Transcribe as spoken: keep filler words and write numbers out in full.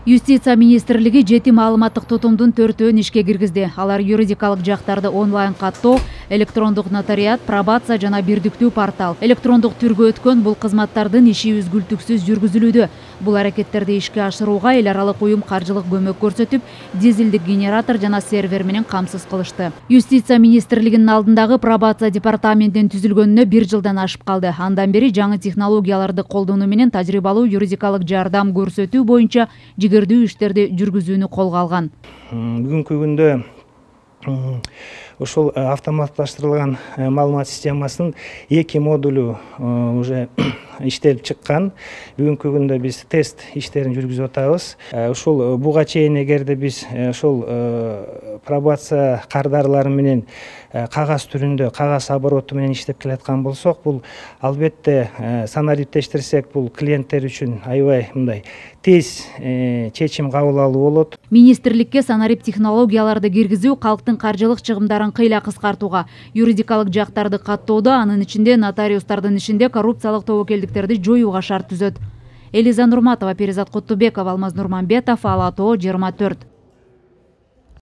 Юстиция министрлиги жети маалыматтык тутумдун төртөөн ишке киргизди. Алар юридикалык жактарды онлайн каттоо, электрондук нотариат, пробация жана бирдиктүү портал. Электрондук түргө өткөн бул кызматтардын иши үзгүлтүксүз жүргүзүлүүдө. Бул аракеттерди ишке ашырууга эл аралык уюм каржылык көмөк көрсөтүп, дизелдик генератор жана сервер менен камсыз кылышты. Юстиция министрлигинин алдындагы пробация департаментинин түзүлгөнүнө бир жылдан ашып калды. Андан бери жаңы технологияларды колдонуу менен тажрыйбалуу юридикалык жардам көрсөтүү боюнча жигердүү иштерди жүргүзүүнү колго алган. Бүгүнкү күндө ошол автоматташтырылган маалымат системасынын эки модулу уже иштелип чыккан. Бүгүнкү күндө биз тест иштерин жүргүзүп атабыз. Ушул буга чейин эгерде биз ошол пробация кардарлары менен кагаз түрүндө, кагаз обороту менен иштеп келаткан болсок, бул албетте санариптештирсек, бул клиенттер үчүн аябай мындай тез чечим кабыл алуу болот. Министрликке санарип технологияларды киргизүү калктын каржылык чыгымдарын кыйла кыскартууга, юридикалык жактарды каттоодо, анын ичинде нотариустардын ишинде коррупциялык тобокелдиктерди жоюуга шарт түзөт. Элиза Нурматова, Перизат Куттубеков, Алмаз Нурманбетов, Ала Тоо жыйырма төрт.